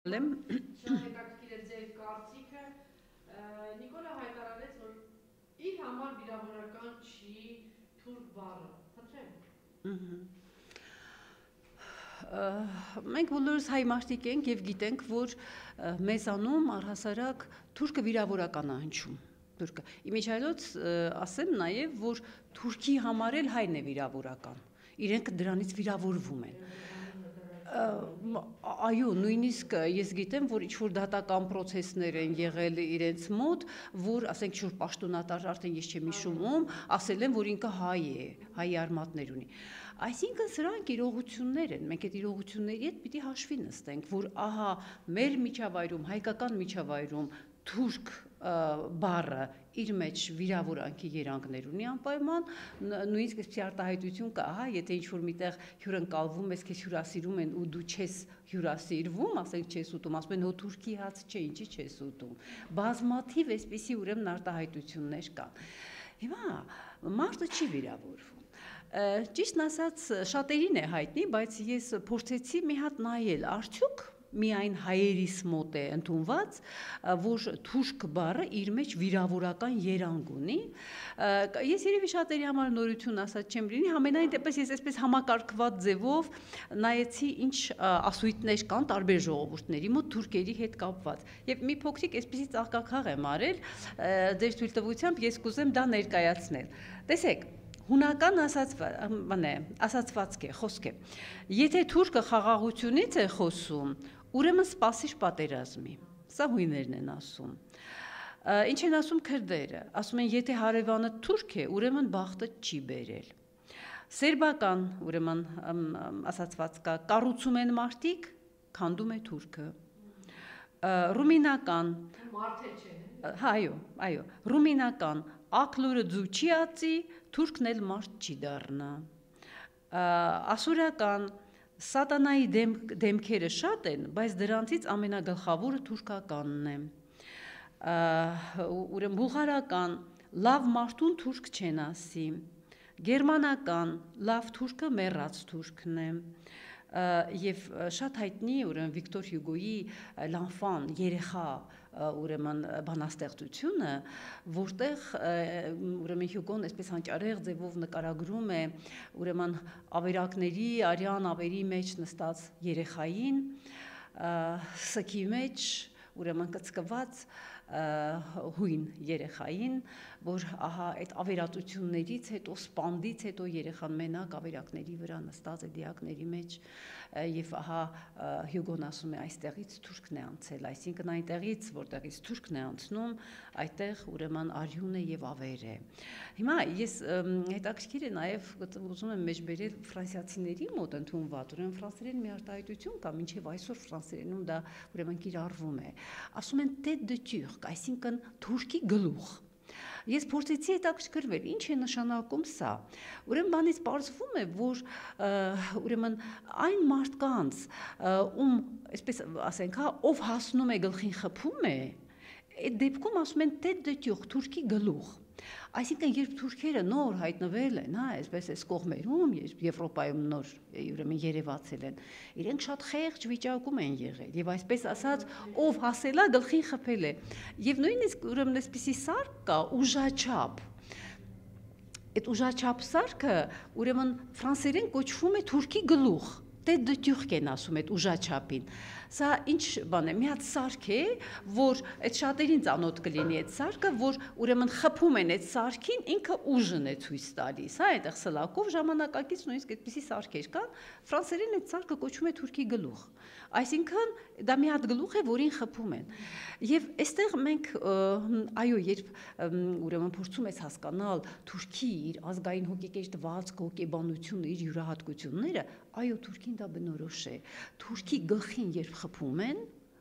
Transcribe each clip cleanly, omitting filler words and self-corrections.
Շատ հետաքրքիր է ձեր կարծիքը։ Նիկոլը հայտարարեց, որ իր համար վիրավորական չի թուրք բառը։ Խնդրեմ։ Մենք բոլորս հայ մարդիկ ենք եւ գիտենք, որ մեզանում առհասարակ թուրքը վիրավորական է հնչում։ Թուրքը։ Իմիջայլոց ասեմ նաեւ, որ թուրքի համար էլ հայն է վիրավորական։ Իրենք դրանից վիրավորվում են։ Այո, նույնիսկ ես գիտեմ, որ ինչ-որ դատական պրոցեսներ են եղել իրենց մոտ, որ, ասենք, ինչ-որ պաշտոնատար, արդեն ես չեմ հիշում ում, ասել են, որ ինքը հայ է, հայի արմատներ ունի։ Այսինքն սրանք իրողություններ են, մենք այդ իրողությունների հետ պիտի հաշվի նստենք, որ ահա մեր միջավայրում, հայկական միջավայրում թուրք բառը իր մեջ վիրավորանքի երանգներ ունի անպայման, նույնիսկ այսպիսի արտահայտություն կա, հա, եթե ինչ-որ միտեղ հյուրընկալվում ես, քեզ հյուրասիրում են ու դու չես հյուրասիրվում, ասենք չես ուտում, ասում են հո թուրքի հաց չէ, ինչի չես ուտում։ Բազմաթիվ այսպիսի ուրեմն արտահայտություններ կան։ Հիմա մարդը չի վիրավորվում։ Ճիշտն ասած, շատերին է հայտնի, բայց ես փորձեցի մի հատ նայել, արդյոք միայն հայերիս մոտ է ընդունված, որ թուրք բառը իր մեջ վիրավորական երանգ ունի։ Ես երևի շատերի համար նորություն ասած չեմ լինի, համենայն դեպս ես այսպես համակարգված ձևով նայեցի ինչ ասույթներ կան տարբեր ժողովուրդների մոտ թուրքերի հետ կապված։ Եվ մի փոքրիկ այսպեսի ծաղկաքաղ եմ արել, ձեր թույլտվությամբ ես կուզեմ դա ներկայացնել։ Տեսեք, հունական ասացվածք է, խոսք է։ Եթե թուրքը խաղաղությունից է խոսում, ուրեմն սպասիր պատերազմի։ Սա հույներն են ասում։ Ինչ են ասում քրդերը։ Ասում են, եթե հարևանը թուրք է, ուրեմն բախտը չի բերել։ Սերբական, ուրեմն ասացված կա, կառուցում են մարդիկ, քանդում է թուրքը։ Ռումինական, Մարդ չէ։ Այո, ռումինական, ակլուրը ձու չի ածի, թուրքն էլ մարդ չի դառնա։ Ասորական, սատանայի դեմքերը շատ են, բայց դրանցից ամենագլխավորը թուրքականն է։ Ուրեմն բուլղարական, լավ մարդուն թուրք չեն ասի։ Գերմանական, լավ թուրքը մեռած թուրքն է։ Եվ շատ հայտնի ուրեմն Վիկտոր Հյուգոյի L'Enfant, երեխա ուրեմն բանաստեղծությունը, որտեղ ուրեմն Հյուգոն այսպես հանճարեղ ձևով նկարագրում է ուրեմն ավերակների արյան ավերի մեջ նստած երեխային, սքի մեջ ուրեմն կծկված հույն երեխային, որ ահա այդ ավերածություններից հետո, սպանդից հետո երեխան մենակ ավերակների վրա նստած է դիակների մեջ եւ ահա Հյուգոն ասում է այստեղից թուրքն է անցել, այսինքն այնտեղից, որտեղից թուրքն է անցնում, այդտեղ ուրեմն արյուն է եւ ավեր է։ Հիմա ես հետաքրքիր է նաեւ ուզում եմ մեջբերել ֆրանսիացիների մոտ ընդունված, ուրեմն ֆրանսերեն մի արտահայտություն կա, մինչեւ այսօր ֆրանսերենում դա ուրեմն կիրառվում է։ Ասում են tête de turc, այսինքն թուրքի գլուխ։ Ես փորձեցի հետաքրքրվել, ինչ է նշանակում սա։ Ուրեմն բանից պարզվում է, որ ուրեմն այն մարդկանց, ում, այսպես ասենք, հա, ով հասնում է գլխին խփում է, այդ դեպքում ասում են tête de turc, թուրքի գլուխ։ Այսինքն երբ թուրքերը նոր հայտնվել են, հա, այսպես այս կողմերում, Եվրոպայում նոր ուրեմն երևացել են, իրենք շատ խեղճ վիճակում են եղել եւ այսպես ասած ով հասելա գլխին խփել է եւ նույնիսկ ուրեմն այսպիսի սարք կա ուժաչափ։ Այդ ուժաչափ սարքը ուրեմն ֆրանսերեն կոչվում է թուրքի գլուխ։ Tête de turc են ասում այդ ուժաչափին։ Սա ինչ բան է, մի հատ սարք է, որ այդ շատերին ծանոթ կլինի այդ սարքը, որ ուրեմն խփում են այդ սարքին, ինքը ուժն է ցույց տալիս, հա, այդտեղ սլակով ժամանակակից նույնիսկ այդպիսի սարքեր կան, ֆրանսերեն այդ սարքը կոչվում է թուրքի գլուխ։ Այսինքն դա մի հատ գլուխ է, որին խփում են։ Եվ այստեղ մենք այո, երբ ուրեմն փորձում ես հասկանալ թուրքի իր ազգային հոգեկեշ դվածք, հոգեբանությունը, իր յուրահատկությունները, այո, թուրքին դա բնորոշ է։ Թուրքի գլխին երբ խփում են,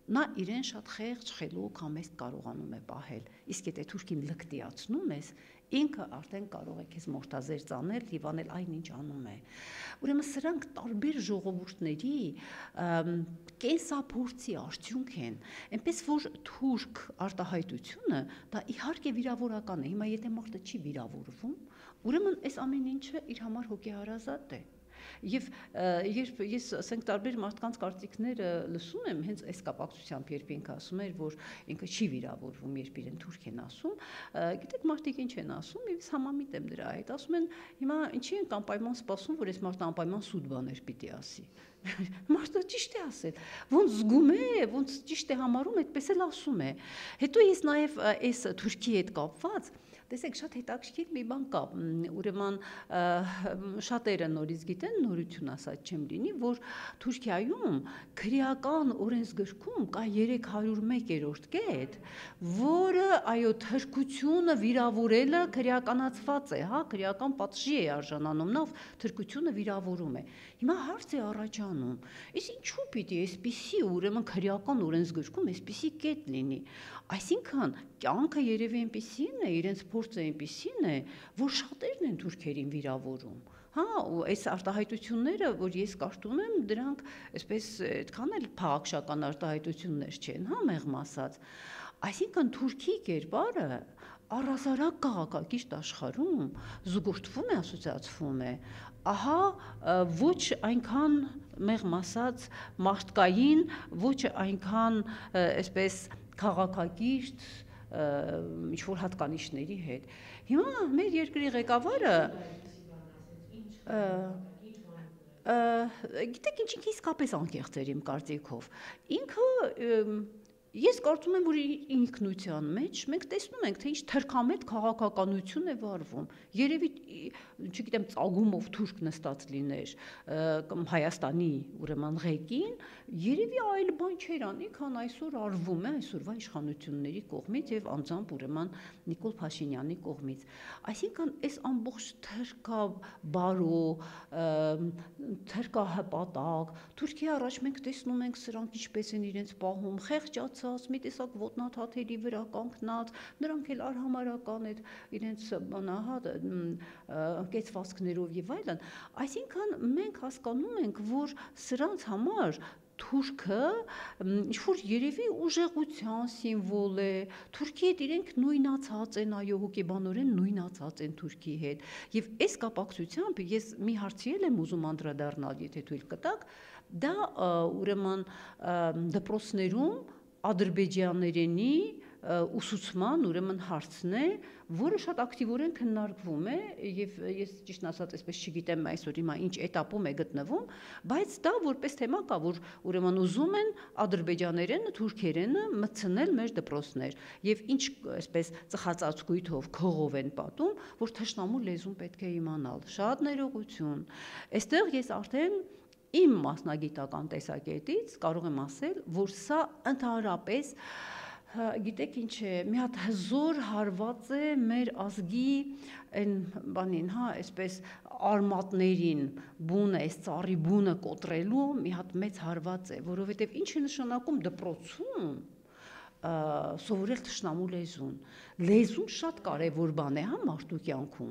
նա իրեն շատ խեղճ, խելոք, համեստ կարողանում է պահել։ Իսկ եթե թուրքին լկտիացնում ես, ինքը արդեն կարող է քեզ մորթազեր ծանել եւ անել այնինչ անում է։ Ուրեմն սրանք տարբեր ժողովուրդների կենսափորձի արդյունք են։ Այնպես որ թուրք արտահայտությունը դա իհարկե վիրավորական է։ Հիմա եթե մարդը չի վիրավորվում, ուրեմն այս ամեն ինչը իր համար հոգեհարազատ է։ Եվ երբ ես ասենք տարբեր մարդկանց կարծիքները լսում եմ, հենց այս կապակցությամբ երբ ինքը ասում էր, որ ինքը չի վիրավորվում, երբ իրեն թուրք են ասում, գիտեք մարդիկ ինչ են ասում, եւ ես համամիտ եմ դրա հետ, ասում են հիմա ինչի ենք անպայման սպասում, որ այս մարդը անպայման սուտ բաներ պիտի ասի։ Մարդը ճիշտ է ասել, ոնց զգում է, ոնց ճիշտ է համարում, այդպես էլ ասում է։ Հետո ես նաև այս Թուրքի հետ կապված, տեսեք, շատ հետաքրքիր մի բան կա, ուրեմն շատերը նորից գիտեն, նորություն ասած չեմ լինի, որ Թուրքիայում քրեական օրենսգրքում կա 301-րդ կետ, որը այո թրքությունը վիրավորելը քրեականացված է, հա, քրեական պատժի է արժանանում, նա թրքությունը վիրավորում է։ Հիմա հարց է առաջանում, իսկ ինչու պիտի այսպիսի ուրեմն քրեական օրենսգրքում այսպիսի կետ լինի։ Այսինքն կյանքը երևի այնպիսին է, իրենց փորձը այնպիսին է, որ շատերն են թուրքերին վիրավորում։ Հա, ու այս արտահայտությունները, որ ես կարդում եմ, դրանք այսպես այդքան էլ փաղաքշական արտահայտություններ չեն, հա, մեղմ ասած։ Այսինքն Թուրքի կերպարը առհասարակ քաղաքակիրթ աշխարհում զուգորդվում է, ասոցիացվում է, ահա ոչ այնքան մեղմ ասած մարդկային, ոչ այնքան այսպես քաղաքակիրթ ինչ-որ հատկանիշների հետ։ Հիմա մեր երկրի ղեկավարը գիտեք ինչ ինքը իսկապես անկեղծ էր իմ կարծիքով։ Ինքը ես կարծում եմ, որ ինքնության մեջ մենք տեսնում ենք, թե ինչ թրքամետ քաղաքականություն է վարվում։ Երևի, չգիտեմ, ծագումով թուրք նստած լիներ կամ Հայաստանի ուրեմն ղեկին, երևի այլ բան չէր անի, քան այսօր արվում է այսօրվա իշխանությունների կողմից եւ անձամբ ուրեմն Նիկոլ Փաշինյանի կողմից։ Այսինքն այս ամբողջ թրքաբարո, թրքահպատակ, Թուրքիա առաջ մենք տեսնում ենք սրանք ինչպես են իրենց պահում, խեղճացած, մի տեսակ ոտնաթաթերի վրա կանգնած, նրանք էլ արհամարական այդ իրենց բանահա կեցվածքներով եւ այլն։ Այսինքն մենք հասկանում ենք, որ սրանց համար Թուրքը ինչ-որ երևի ուժեղության սիմվոլ է, Թուրքի հետ իրենք նույնացած են, այո, հոգեբանորեն նույնացած են Թուրքի հետ։ Եվ այս կապակցությամբ ես մի հարցի եմ ուզում անդրադառնալ, եթե թույլ կտաք, դա ուրեմն դպրոցներում ադրբեջաներենի ուսուցման ուրեմն հարցն է, որը շատ ակտիվորեն քննարկվում է եւ ես ճիշտ ասած այսպես չգիտեմ այսօր հիմա ինչ этаպում է գտնվում, բայց դա որպես թեմա կա, որ ուրեմն ուզում են ադրբեջաներենը, թուրքերենը մտցնել մեր դպրոցներ եւ ինչ այսպես ծխածածկույթով, քողով են պատում, որ թշնամու լեզուն պետք է իմանալ։ Շատ ներողություն։ Այստեղ ես արդեն իմ մասնագիտական տեսակետից կարող եմ ասել, որ սա ընդհանրապես գիտեք ինչ է, մի հատ հզոր հարված է մեր ազգի այն բանին, հա, այսպես արմատներին, բունը, այս ծառի բունը կոտրելու մի հատ մեծ հարված է, որովհետև ինչ է նշանակում դպրոցում սովորել թշնամու լեզուն։ Լեզուն շատ կարևոր բան է, հա, մարդու կյանքում։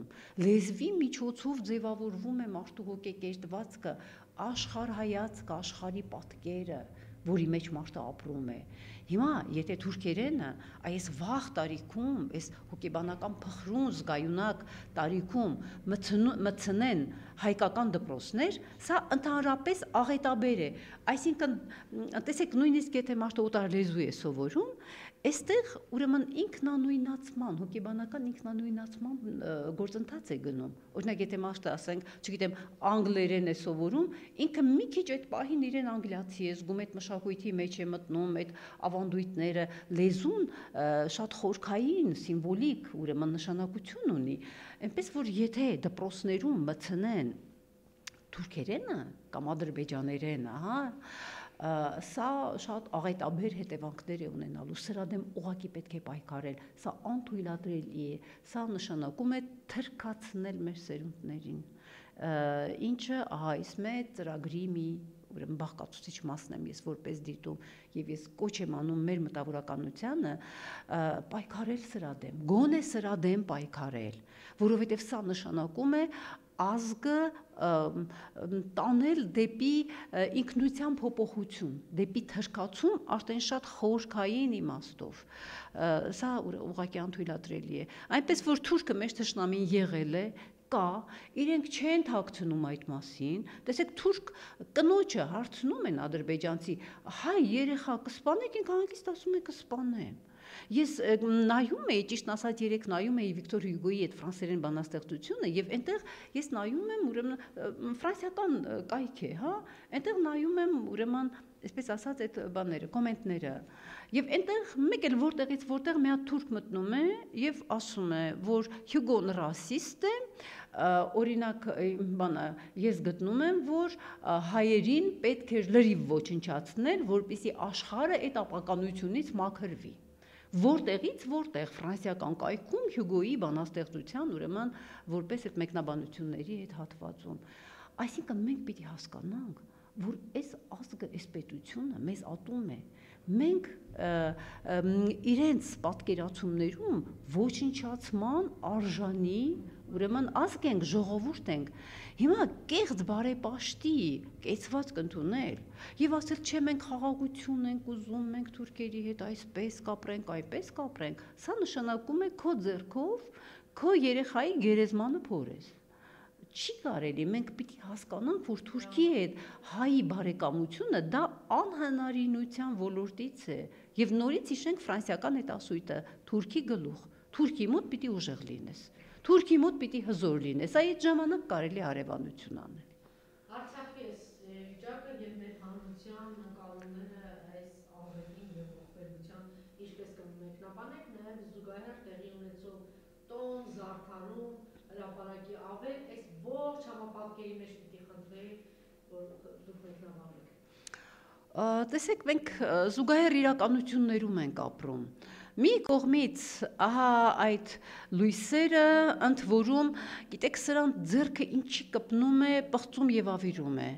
Լեզվի միջոցով ձևավորվում է մարդու հոգեկերտվածքը, աշխարհայացքը, աշխարհի պատկերը, որի մեջ մարդը ապրում է։ Հիմա, եթե թուրքերենը այս վաղ տարիքում, այս հոգեբանական փխրուն զգայունակ տարիքում մտցնեն հայկական դպրոցներ, սա ընդհանրապես աղետաբեր է։ Այսինքն, տեսեք, նույնիսկ եթե մարդը օտար լեզու է սովորում, այստեղ ուրեմն ինքնանույնացման, հոգեբանական ինքնանույնացման գործընթաց է գնում։ Օրինակ, եթե մարդը, ասենք, չգիտեմ, անգլերեն է սովորում, ինքը մի քիչ այդ պահին իրեն անգլիացի է զգում, այդ մշակույթի մեջ է մտնում, այդ ավանդույթները, լեզուն շատ խորքային, սիմվոլիկ, ուրեմն նշանակություն ունի։ Այնպես որ եթե դպրոցներում մտցնեն թուրքերենը կամ ադրբեջաներենը, հա, սա շատ աղետաբեր հետևանքներ է ունենալու, սրա դեմ ուղղակի պետք է պայքարել, սա անթույլատրելի է, սա նշանակում է թրքացնել մեր սերունդներին, ինչը այս մեծ ծրագրի մի ուրեմն բաղկացուցիչ մասն եմ ես որպես դիտում եւ ես կոչ եմ անում մեր մտավորականությանը պայքարել սրա դեմ, գոնե սրա դեմ պայքարել, որովհետեւ սա նշանակում է ազգը տանել դեպի ինքնության փոփոխություն, դեպի թրքացում արդեն շատ խորքային իմաստով, սա ուղղակի անթույլատրելի է, այնպես որ թուրքը մեր թշնամին եղել է, կա, իրենք չեն թաքցնում այդ մասին, տեսեք թուրք կնոջը հարցնում են ադրբեջանցի, հայ երեխա կսպանեք, ինքը հանգիստ ասում է կսպանեմ։ Ես նայում էի, ճիշտ ասած երեք նայում էի Վիկտոր Հյուգոյի այդ ֆրանսերեն բանաստեղծությունը եւ այնտեղ ես նայում եմ ուրեմն ֆրանսիական կայք է, հա, այնտեղ նայում եմ ուրեմն այսպես ասած այդ բաները, կոմենտները։ Եվ այնտեղ մեկ էլ որտեղ մի հատ թուրք մտնում է եւ ասում է, որ Հյուգոն ռասիստ է, օրինակ բանը ես գտնում եմ, որ հայերին պետք է լրիվ ոչնչացնել, որպեսզի աշխարհը այդ ապականությունից մաքրվի։ Որտեղ ֆրանսիական կայքում Հյուգոյի բանաստեղծության ուրեմն որպես այդ մեկնաբանությունների այդ հատվածում։ Այսինքն մենք պիտի հասկանանք, որ այս ազգը, այս պետությունը մեզ ատում է։ Մենք իրենց պատկերացումներում ոչնչացման արժանի ուրեմն ազգ ենք, ժողովուրդ ենք։ Հիմա կեղծ բարեպաշտի կեցված կընդունել եւ ասել չէ մենք խաղաղություն ենք ուզում, մենք թուրքերի հետ այսպես կապրենք, այպես կապրենք, սա նշանակում է քո ձեռքով քո երեխայի գերեզմանը փորես։ Չի կարելի, մենք պիտի հասկանանք, որ Թուրքի հետ հայի բարեկամությունը դա անհնարինության ոլորտից է եւ նորից հիշենք ֆրանսիական այդ ասույթը Թուրքի գլուխ, Թուրքի մոտ պիտի ուժեղ լինես, Թուրքի մոտ պիտի հզոր լինես, այդ ժամանակ կարելի հարևանություն անել։ Արցախի վիճակը եւ մեր հանրության նկարումները այս աղետին եւ ողբերգության ինչպես կմեկնաբանեք, նաեւ զուգահեռ տեղի ունեցող տոն, զարդարում, հրապարակի ավել, այս ողջ համապատկերի մեջ պիտի խնդրեի, որ դուք մեկնաբանեք։ Տեսեք, մենք զուգահեռ իրականություններում ենք ապրում։ Մի կողմից ահա այդ լույսերը ընդ որում, գիտեք, սրանց ձեռքը ինչի կպնում է, պղծում եւ ավիրում է։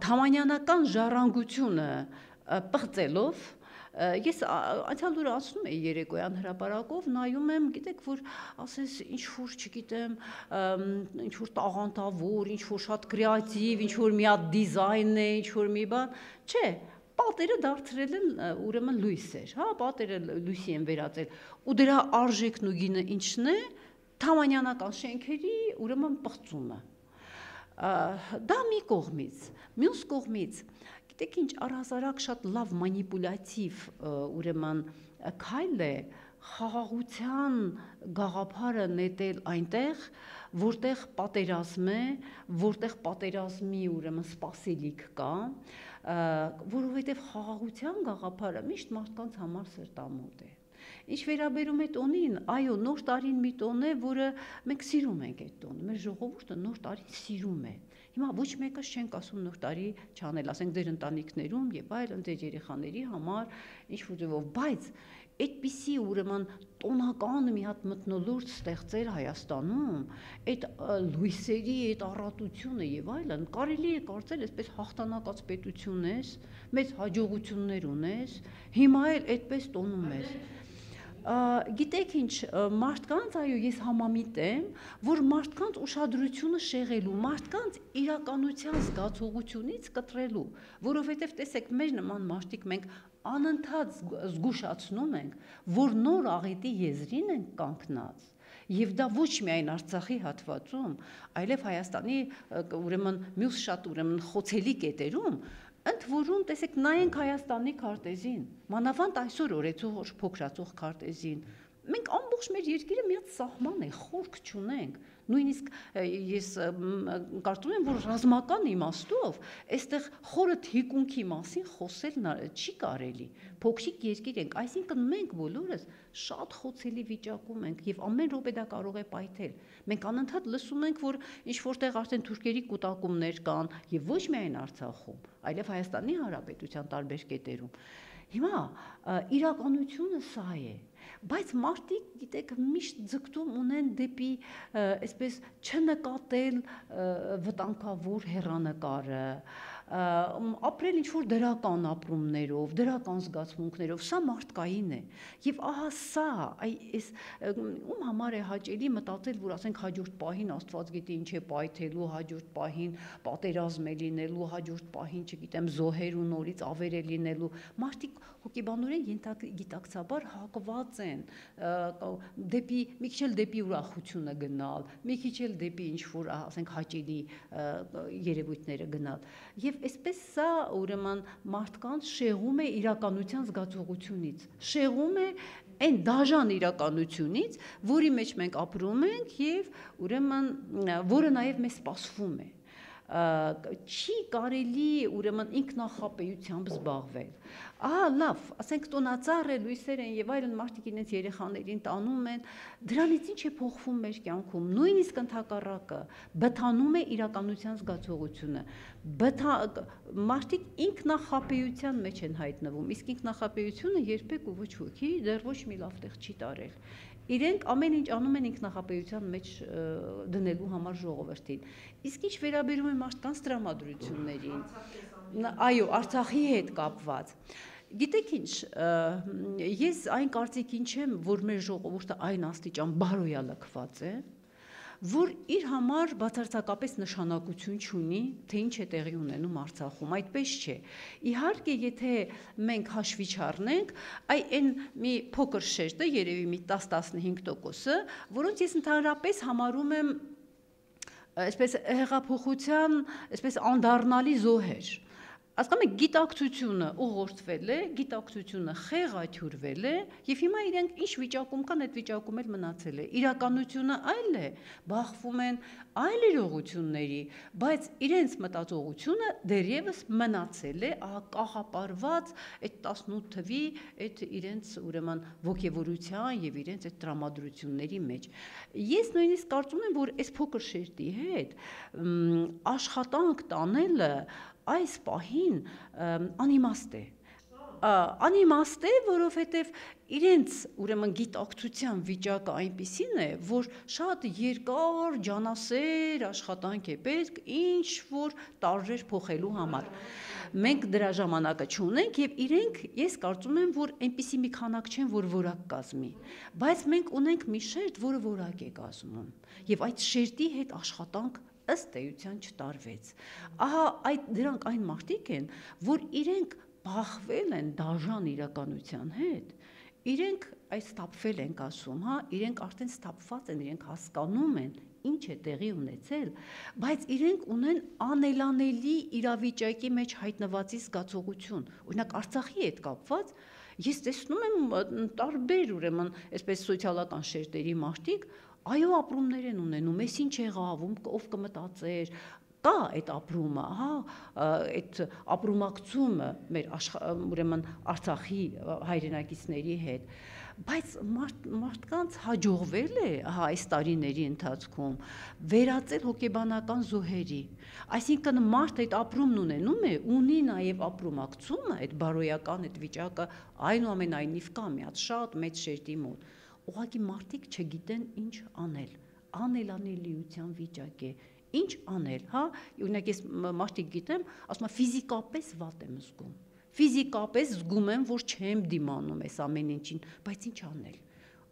Թամանյանական ժառանգությունը պղծելով ես անցյալ օրը ասում էի երեկոյան հրապարակով, նայում եմ, գիտեք, որ ասես ինչ որ, չգիտեմ, ինչ որ տաղանդավոր, ինչ որ շատ կրեատիվ, ինչ որ մի հատ դիզայն է, ինչ որ մի բան, չէ, պատերը դարձրել են ուրեմն լույսեր, հա, պատերը լույսի են վերածել, ու դրա արժեքն ու գինը ինչն է, թամանյանական շենքերի ուրեմն պղծումը։ Դա մի կողմից, մյուս կողմից գիտեք ինչ առհասարակ շատ լավ մանիպուլյատիվ ուրեմն քայլ է խաղաղության գաղափարը նետել այնտեղ, որտեղ պատերազմ է, որտեղ պատերազմի ուրեմն սպասելիք կա, որովհետև խաղաղության գաղափարը միշտ մարդկանց համար սրտամոտ է։ Ինչ վերաբերում է տոնին, այո, նոր տարին մի տոն է, որը մենք սիրում ենք այդ տոնը, մեր ժողովուրդը նոր տարին սիրում է։ Հիմա ոչ մեկս չենք ասում նոր տարի չանել, ասենք ձեր ընտանիքներում եւ այլն ձեր երեխաների համար ինչ որ ձևով, բայց այդպիսի ուրեմն տոնական մի հատ մթնոլորտ ստեղծել Հայաստանում, այդ լույսերի այդ առատությունը եւ այլն, կարելի է կարծել այսպես հաղթանակած պետություն ես, մեծ հաջողություններ ունես, հիմա էլ այդպես տոնում ես։ Գիտեք ինչ, մարդկանց, այո, ես համամիտ եմ, որ մարդկանց ուշադրությունը շեղելու, մարդկանց իրականության զգացողությունից կտրելու, որովհետև տեսեք, մեր նման մարդիկ մենք անընդհատ զգուշացնում ենք, որ նոր աղետի եզրին ենք կանգնած, եւ դա ոչ միայն Արցախի հատվածում, այլև Հայաստանի ուրեմն մյուս շատ ուրեմն խոցելի կետերում, ընդ որում տեսեք նայենք Հայաստանի քարտեզին, մանավանդ այսօր օրեցող փոքրացող քարտեզին, մենք ամբողջ մեր երկիրը մի հատ սահման է, խորք չունենք, նույնիսկ ես կարծում եմ, որ ռազմական իմաստով այստեղ խորը թիկունքի մասին խոսել չի կարելի, փոքրիկ երկիր ենք, այսինքն մենք բոլորս շատ խոցելի վիճակում ենք եւ ամեն րոպե դա կարող է պայթել։ Մենք անընդհատ լսում ենք, որ ինչ որտեղ արդեն թուրքերի կուտակումներ կան եւ ոչ միայն Արցախում, այլև Հայաստանի Հանրապետության տարբեր կետերում։ Հիմա իրականությունը սա է, բայց մարդիկ, գիտեք, միշտ ձգտում ունեն դեպի այսպես չնկատել վտանգավոր հեռանկարը, ապրել ինչ-որ դրական ապրումներով, դրական զգացմունքներով, սա մարդկային է։ Եվ ահա սա, այս ում համար է հաճելի մտածել, որ ասենք հաջորդ պահին Աստված գիտի ինչ է պայթելու, հաջորդ պահին պատերազմ է լինելու, հաջորդ պահին, չգիտեմ, զոհեր ու նորից ավեր է լինելու։ Մարդիկ հոգեբանորեն գիտակցաբար հակված են դեպի մի քիչ էլ դեպի ուրախությունը գնալ, մի քիչ էլ դեպի ինչ-որ, ասենք, հաճելի երևույթները գնալ։ Եվ այսպես սա ուրեմն մարդկանց շեղում է իրականության զգացողությունից, շեղում է այն դաժան իրականությունից, որի մեջ մենք ապրում ենք եւ ուրեմն որը նաեւ մեզ սպասվում է։ Չի կարելի ուրեմն ինքնախապեյությամբ զբաղվել։ Լավ, ասենք տոնածառ է, լույսեր են եւ այլն, մարդիկ իրենց երեխաներին տանում են, դրանից ինչ է փոխվում մեր կյանքում, նույնիսկ ընդհակառակը, բթանում է իրականության զգացողությունը։ Մարդիկ ինքնախապեյության մեջ են հայտնվում, իսկ ինքնախապեյությունը երբեք ու ոչ ոքի դեռ ոչ մի լավ տեղ չի տարել։ Իրենք ամեն ինչ անում են ինքնախապեյության մեջ դնելու համար ժողովրդին։ Իսկ ինչ վերաբերում է մարդկանց տրամադրություններին, այո, Արցախի հետ կապված։ Գիտեք ինչ, ես այն կարծիքին չեմ, որ մեր ժողովուրդը այն աստիճան բարոյալքված է, որ իր համար բացարձակապես նշանակություն չունի, թե ինչ է տեղի ունենում Արցախում, այդպես չէ։ Իհարկե, եթե մենք հաշվի չառնենք, այն մի փոքր շերտը, երևի մի 10-15%, որոնց ես ընդհանրապես համարում եմ այսպես հեղափոխության, այսպես անդառնալի զոհեր։ Ասում եք, գիտակցությունը ուղղորդվել է, գիտակցությունը խեղաթյուրվել է, եւ հիմա իրենք ինչ վիճակում կան, այդ վիճակում էլ մնացել է։ Իրականությունը այլ է, բախվում են այլ իրողությունների, բայց իրենց մտածողությունը դեռևս մնացել է, կաղապարված այդ 18 թվի այդ իրենց ուրեմն ոգևորության եւ իրենց այդ տրամադրությունների մեջ։ Ես նույնիսկ կարծում եմ, որ այս փոքր շերտի հետ աշխատանք տանելը այս պահին անիմաստ է։ Անիմաստ է, որովհետև իրենց ուրեմն գիտակցության վիճակը այնպիսին է, որ շատ երկար ջանասեր աշխատանք է պետք ինչ որ տարրեր փոխելու համար։ Մենք դրա ժամանակը չունենք եւ իրենք, ես կարծում եմ, որ այնպիսի մի քանակ չեն, որ որակ կազմի, բայց մենք ունենք մի շերտ, որը որակ է կազմում եւ այդ շերտի հետ աշխատանք ըստ էության չտարվեց։ Ահա դրանք այն մարդիկ են, որ իրենք բախվել են դաժան իրականության հետ, իրենք ստապվել ենք ասում, իրենք արդեն ստապված են, իրենք հասկանում են ինչ է տեղի ունեցել, բայց իրենք ունեն անելանելի իրավիճակի մեջ հայտնվածի զգացողություն։ Օրինակ Արցախի հետ կապված ես տեսնում եմ տարբեր ուրեմն այսպես սոցիալական շերտերի մարդիկ այո ապրումներ են ունենում, ես ինչ եղավ, ով կմտածեր, կա այդ ապրումը, այդ ապրումակցումը մեր ուրեմն Արցախի հայրենակիցների հետ, բայց մարդկանց հաջողվել է այս տարիների ընթացքում վերածել հոգեբանական զոհերի, այսինքն մարդ այդ ապրումն ունենում է, ունի նաև ապրումակցումը, այդ բարոյական այդ վիճակը այնուամենայնիվ կա մի հատ շատ մեծ շերտի մոտ, ուղղակի մարդիկ չգիտեն ինչ անել, անելանելիության վիճակ է, ինչ անել, օրինակ ես մարդիկ գիտեմ, ասում եմ ֆիզիկապես վատ եմ զգում, ֆիզիկապես զգում եմ, որ չեմ դիմանում այս ամեն ինչին, բայց ինչ անել։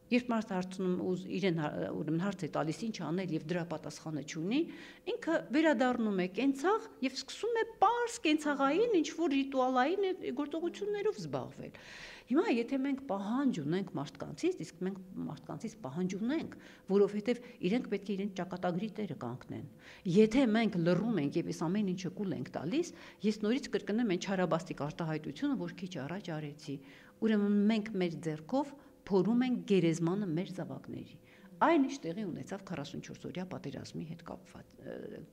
Երբ մարդ հարցնում իրեն ուրեմն հարց է տալիս ինչ անել եւ դրա պատասխանը չունի, ինքը վերադառնում է կենցաղ եւ սկսում է պարզ կենցաղային ինչ որ ռիտուալային գործողություններով զբաղվել։ Հիմա եթե մենք պահանջ ունենք մարդկանցից, իսկ մենք մարդկանցից պահանջ ունենք, որովհետև իրենք պետք է իրենց ճակատագրի տերը կանգնեն։ Եթե մենք լռում ենք եւ այս ամեն ինչը կուլ ենք տալիս, ես նորից կրկնեմ այն չարաբաստիկ արտահայտությունը, որ քիչ առաջ արեցի։ Ուրեմն մենք մեր ձեռքով փորում ենք գերեզմանը մեր զավակների։ Այն ինչ տեղի ունեցավ 44-օրյա պատերազմի հետ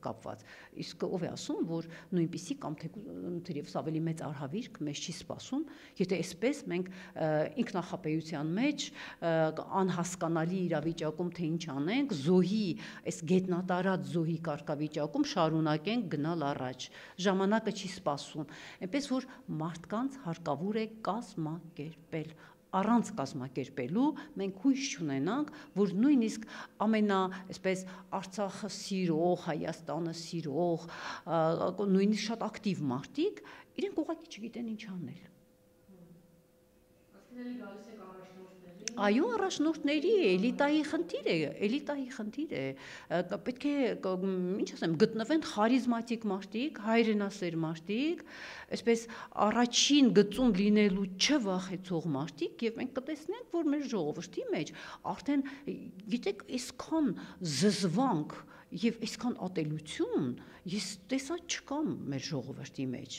կապված։ Իսկ ով է ասում, որ նույնպիսի կամ թերևս ավելի մեծ արհավիրք մեզ չի սպասում, եթե այսպես մենք ինքնախապեյության մեջ անհասկանալի իրավիճակում թե ինչ անենք, զոհի, այս գետնատարած զոհի կարգավիճակում շարունակենք գնալ առաջ։ Ժամանակը չի սպասում։ Այնպես որ մարդկանց հարկավոր է կազմակերպել առանց կազմակերպելու մենք հույս չունենանք, որ նույնիսկ ամենա, այսպես Արցախը սիրող, Հայաստանը սիրող, նույնիսկ շատ ակտիվ մարդիկ, իրենք ուղղակի չգիտեն ինչ անել։ Այո, առաջնորդների էլիտայի խնդիր է, պետք է, ինչ ասեմ, գտնվեն խարիզմատիկ մարդիկ, հայրենասեր մարդիկ, այսպես առաջին գծում լինելու չվախեցող մարդիկ, եւ մենք կտեսնենք, որ մեր ժողովրդի մեջ արդեն, գիտեք, այսքան զզվանք եւ այսքան ատելություն ես տեսա չկամ մեր ժողովրդի մեջ,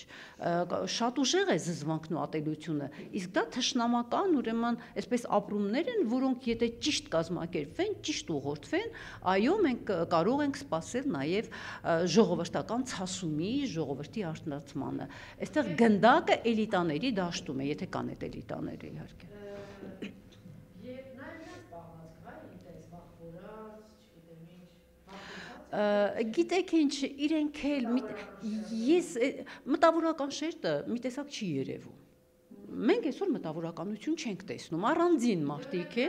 շատ ուժեղ է զզվանքն ու ատելությունը, իսկ դա թշնամական, ուրեմն, այսպես ապրումներ են, որոնք եթե ճիշտ կազմակերպվեն, ճիշտ ուղղորդվեն, այո, մենք կարող ենք սպասել նաեւ ժողովրդական ցասումի, ժողովրդի արթնացմանը։ Այստեղ գնդակը էլիտաների դաշտում է, եթե կան այդ էլիտաները իհարկե։ Գիտեք ինչ, իրենք էլ, ես մտավորական շերտը մի տեսակ չի երևում, մենք այսօր մտավորականություն չենք տեսնում, առանձին մարդիկ է։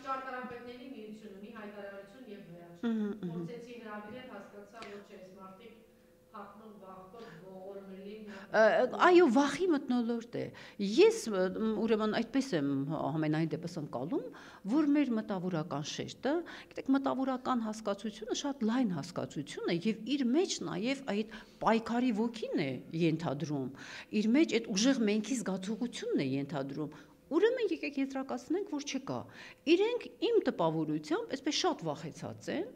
Ճարտարապետների միությունը մի հայտարարություն եւ վերջ, փորձեցի հրավիրել, հասկացա, որ չէ, այս մարդիկ փախնող վախտող ողորմելի։ Այո, վախի մթնոլորտ է։ Ես ուրեմն այդպես եմ ամենայն դեպս ընկալում, որ մեր մտավորական շերտը, գիտեք, մտավորական հասկացությունը շատ լայն հասկացություն է եւ իր մեջ նաեւ այդ պայքարի ոգին է ենթադրում, իր մեջ այդ ուժեղ մենքի զգացողությունն է ենթադրում։ Ուրեմն եկեք եզրակացնենք, որ չկա։ Իրենք իմ տպավորությամբ այսպես շատ վախեցած են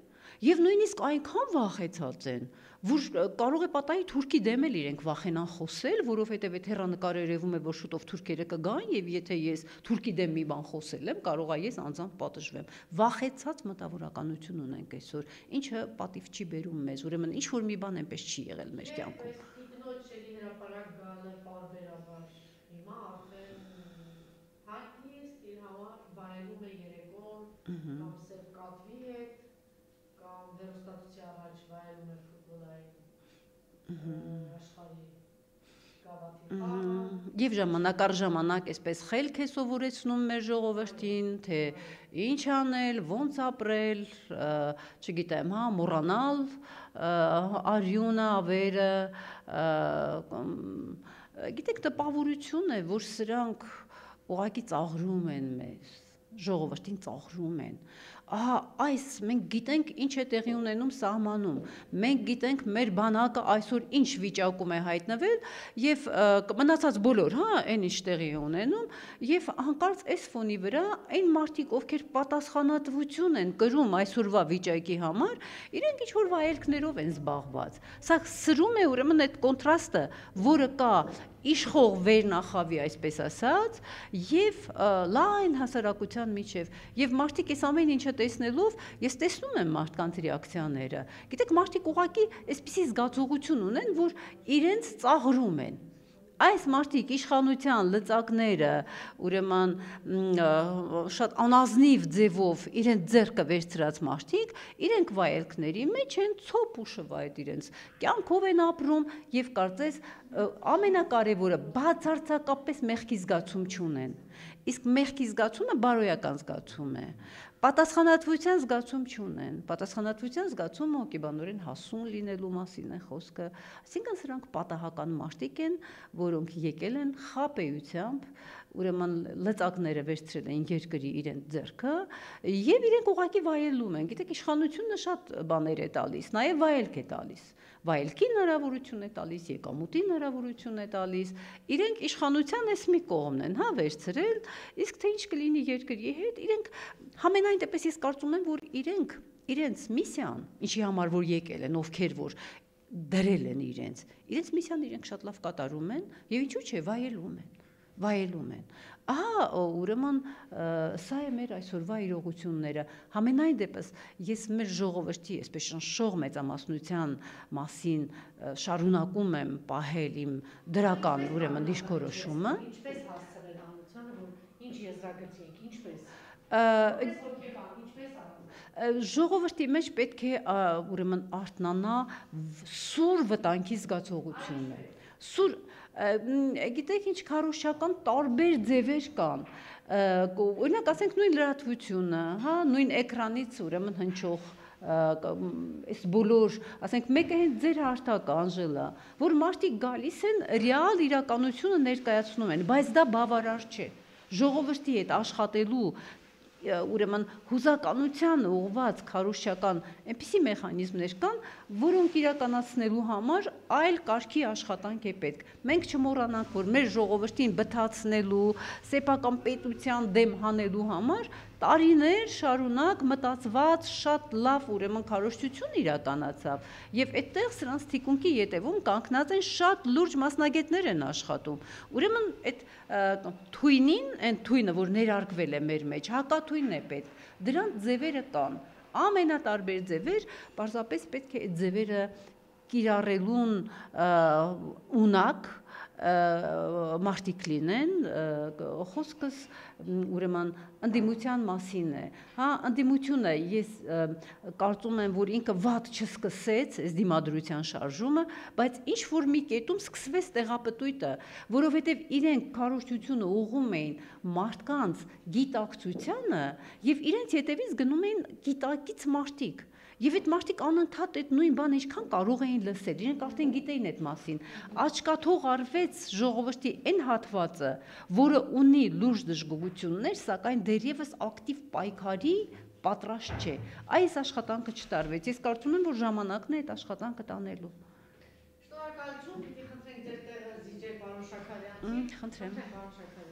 եւ նույնիսկ այնքան վախեցած են, որ կարող է պատահի թուրքի դեմ էլ իրենք վախենան խոսել, որովհետեւ այդ հեռանկարը երևում է, որ շուտով թուրքերը կգան եւ եթե ես թուրքի դեմ մի բան խոսել եմ, կարող է ես անձամբ պատժվեմ։ Վախեցած մտավորականություն ունենք այսօր, ինչը պատիվ չի բերում մեզ, ուրեմն ինչ որ մի բան այնպես չի եղել մեր կյանքում։ Ինքնոջ էլի հրապարակ գալը պարբերաբար հիմա արդեն հայտնի է, իր համար վայելում է երեկոն, կամ սև կատվի հետ, կամ հեռուստացույցի առաջ վայելում է ֆուտբոլային աշխարհի գավաթի խաղը։ Եվ ժամանակ առ ժամանակ այսպես խելք է սովորեցնում մեր ժողովրդին, թե ինչ անել, ոնց ապրել, չգիտեմ, մոռանալ արյունը, ավերը, գիտեք, տպավորություն է, որ սրանք ուղղակի ծաղրում են մեզ, ժողովրդին ծաղրում են։ Ահա այս մենք գիտենք ինչ է տեղի ունենում սահմանում, մենք գիտենք մեր բանակը այսօր ինչ վիճակում է հայտնվել եւ մնացած բոլոր, այն ինչ տեղի է ունենում եւ հանկարծ այս ֆոնի վրա այն մարդիկ, ովքեր պատասխանատվություն են կրում այսօրվա վիճակի համար, իրենք ինչ որ վայելքներով են զբաղված։ Սա սրում է ուրեմն այդ կոնտրաստը, որը կա իշխող վերնախավի, այսպես ասած, եւ լայն հասարակության միջև, եւ մարդիկ այս ամեն ինչը տեսնելով, ես տեսնում եմ մարդկանց ռեակցիաները։ Գիտեք, մարդիկ ուղղակի այսպիսի զգացողություն ունեն, որ իրենց ծաղրում են։ Այս մարդիկ իշխանության լծակները, ուրեմն շատ անազնիվ ձևով իրենց ձեռքը վերցրած մարդիկ, իրենք վայելքների մեջ են ցոփ ու շվայտ իրենց կյանքով են ապրում եւ կարծես ամենակարևորը բացարձակապես մեղքի զգացում չունեն։ Իսկ մեղքի զգացումը բարոյական զգացում է։ Պատասխանատվության զգացում չունեն։ Պատասխանատվության զգացումը հոգեբանորեն հասուն լինելու մասին է խոսքը։ Այսինքն սրանք պատահական մարդիկ են, որոնք եկել են խաբեությամբ, ուրեմն լծակները վերցրել են երկրի իրենց ձեռքը եւ իրենք ուղղակի վայելում են։ Գիտեք, իշխանությունը շատ բաներ է տալիս, նաեւ վայելք է տալիս։ Վայելքի հնարավորություն է տալիս, եկամուտի հնարավորություն է տալիս։ Իրենք իշխանության էս մի կողմն են, վերցրել, իսկ թե ինչ կլինի երկրի հետ, իրենք համենայն դեպս ես կարծում եմ, որ իրենց միսիան, ինչի համար որ եկել են, ովքեր որ դրել են իրենց միսիան իրենք շատ լավ կատարում են եւ ինչու՞ չէ, վայելում են։ Ահա, ուրեմն սա է մեր այսօրվա իրողությունները։ Համենայն դեպս ես մեր ժողովրդի, այսպես շնշող մեծամասնության մասին շարունակում եմ պահել իմ դրական, ուրեմն դիրքորոշումը։ Ինչպես հասցնել հանրությանը, որ ինչ եզրագծի եք, ինչպես ժողովրդի մեջ պետք է ուրեմն արթնանա սուր վտանգի զգացողությունը։ Գիտեք ինչ քարոզչական տարբեր ձևեր կան։ Օրինակ ասենք նույն լրատվությունը, հա, նույն էկրանից ուրեմն հնչող այս բոլոր, ասենք մեկը հենց ձեր հարթակը Անժելա, որ մարդիկ գալիս են ռեալ իրականությունը ներկայացնում են, բայց դա բավարար չէ։ Ժողովրդի հետ աշխատելու ուրեմն հուզականության ուղղված քարոզչական այնպիսի մեխանիզմներ կան, որոնք իրականացնելու համար այլ կարգի աշխատանք է պետք։ Մենք չմոռանանք, որ մեր ժողովրդին բթացնելու, սեփական պետության դեմ հանելու համար տարիներ շարունակ մտածված շատ լավ ուրեմն քարոզչություն իրականացավ, եւ այդտեղ սրանց թիկունքի ետևում կանգնած են շատ լուրջ մասնագետներ են աշխատում։ Ուրեմն այդ թույնին, այն թույնը, որ ներարկվել է մեր մեջ, հակաթույնն է պետք։ Դրանց ձևերը կան, ամենատարբեր ձևեր, պարզապես պետք է այդ ձևերը կիրառելուն ունակ մարդիկ լինեն, խոսքս ուրեմն ընդդիմության մասին է, հա, ընդդիմությունը ես կարծում եմ, որ ինքը վատ չսկսեց այս դիմադրության շարժումը, բայց ինչ որ մի կետում սկսվեց տեղապտույտը, որովհետև իրենք քարոզչությունը ուղղում էին մարդկանց գիտակցությանը եւ իրենց հետևից գնում էին գիտակից մարդիկ։ Եվ այդ մարդիկ անընդհատ այդ նույն բանը ինչքան կարող էին լսել, իրենք արդեն գիտեին այդ մասին։ Աչքաթող արվեց ժողովրդի այն հատվածը, որը ունի լուրջ դժգոհություններ, սակայն դեռևս ակտիվ պայքարի պատրաստ չէ։ Այս աշխատանքը չտարվեց։ Ես կարծում եմ, որ ժամանակն է այդ աշխատանքը տանելու։ Շնորհակալություն, պիտի խնդրենք ձեր տեղը զիջել պարոն Շաքարյանին։ Խնդրեմ։ Պարոն Շաքարյան։